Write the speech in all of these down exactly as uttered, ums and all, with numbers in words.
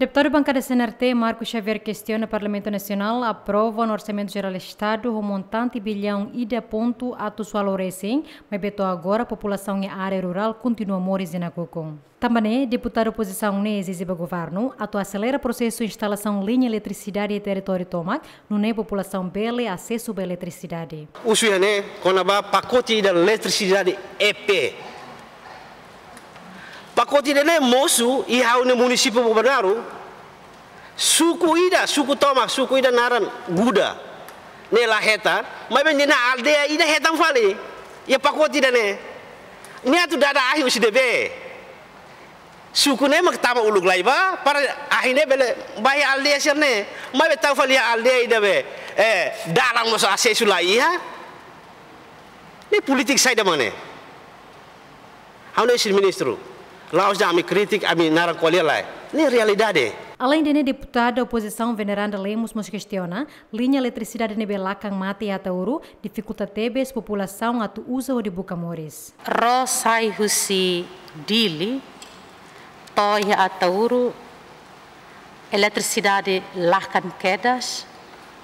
Deputadu bankada C N R T, Marco Xavier, kestiona Parlamentu Nasionál aprova ona Orsamentu Jerál Estadu ho montante billaun ida pontu atus ualu resin, maibé to'o agora populasaun iha área rurál kontinua moris iha nakukun. Tanba ne'e, deputadu opozisaun ne'e ezije ba governu atu aselera prosesu instalasaun liña eletrisidade iha territóriu tomak, nune'e populasaun bele asesu ba eletrisidade. Husu iha ne'e kona-ba pakote ida eletrisidade E P. Pakote ida-ne'e mosu iha ha'u-nia munisípiu Bobonaro. Suku ida, suku tomak, suku ida naran Guda. Ne'e la hetan, maibé nia aldeia ida hetan fali. Iha pakote ida-ne'e. Nia atu dada ahi husi ne'ebé? Suku ne'e mak tama uluk lai ba, para ahi ne'e bele ba iha aldeia sira-ne'e. Maibé tau fali iha aldeia ida be, eh, dalan mós asesu la iha. Ne'e polítika saida mak ne'e? Ha'u ne'e husi ministru. La'ós dehan ami kritika, ami naran ko'alia lae. Ne'e realidade. Aleinde ne'e, deputada opozisaun Veneranda Lemos mós kestiona, liña eletrisidade ne'ebé lakan mate iha Ataúru difikulta tebes populasaun atu uza hodi buka moris. Ró sai husi Dili, to'o iha Ataúru, eletrisidade lakan kedas,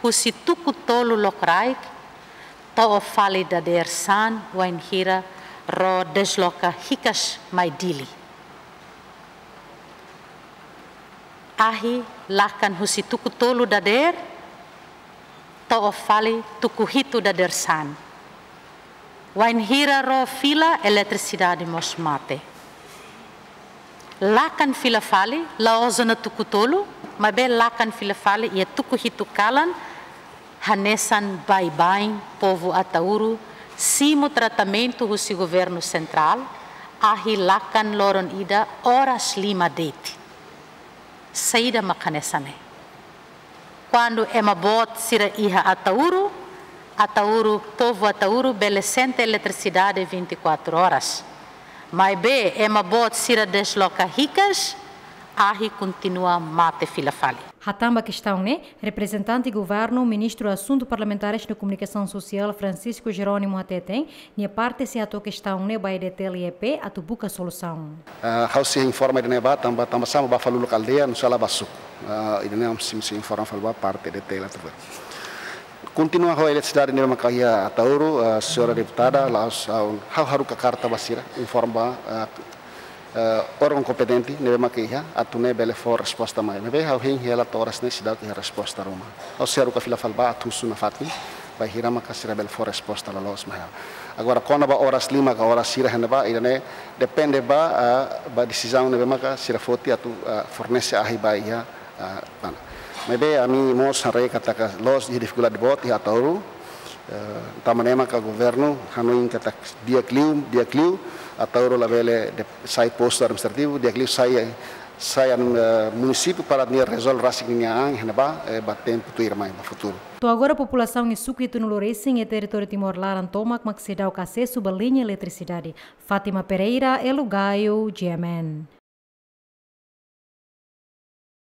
husi tuku tolu lokraik, to'o fali dadeer-saan, wainhira ró desloka hikas mai Dili. Ahi lakan husi tuku tolu dadeer, to'o fali tuku hitu dadeer-saan. Wainhira ró fila, eletrisidade mós mate. Lakan fila fali, la'ós ona tuku tolu, maibé lakan fila fali iha tuku hitu kalan, hanesan baibain povu Ataúru simu tratamentu husi governu sentrál, ahi lakan loron ida oras lima de'it. Saida mak hanesan ne'e? Kuandu ema boot sira iha Ataúru, Ataúru, povu Ataúru bele sente eletrisidade vinte e quatro horas. Maibé ema boot sira desloka hikas, ahi kontinua mate fila fali. Hatán ba kestaun ne'e, reprezentante governu, ministru Asuntu Parlamentares no Komunikasaun Sosiál, Francisco Jerónimo, hateten, nia parte sei hato'o kestaun ne'e ba E D T L I E P atu buka solusaun. Ah, ha'u sei informa ida-ne'e ba, tanba, tanba sá mak ba fali uluk aldeia, no sala ba suku. Ah, ida-ne'e ami sei, sei informa fali ba parte E D T L I E P. Kontinua ho eletrisidade ne'ebé maka iha Ataúru, ah, señora deputada, la'ós, ah, ha'u haruka karta ba sira, informa ba, ah, eh, órgaun kompetente ne'ebé maka iha, atu nune'e bele fó resposta mai. Maibé ha'u hein hela to'o oras ne'e seidauk iha resposta ruma. Ha'u sei haruka fila fali ba atu husu nafatin, bainhira maka sira bele fó resposta loloos mai ha'u. Agora, kona-ba oras lima ka oras hira iha ne'ebá, ida-ne'e depende ba, eh, ba desizaun ne'ebé maka sira foti atu, eh, fornese ahi ba iha, eh, Pana. Maibé ami mós haree katak loos iha difikuldade boot iha Ataúru, eh, tanba ne'e maka governu hanoin katak di'ak liu, di'ak liu, Ataúru labele de-, sai postu administrativu, di'ak liu sai, sai an, eh, munisípiu para nia rezolve rasik ninia an iha ne'ebá, eh, ba tempu tuirmai, ba futuru. To'o agora populasaun iha suku hitunulu resin iha territóriu Timor laran tomak mak seidauk asesu ba liña eletrisidade. Fátima Pereira, Elo Gaio, G M N.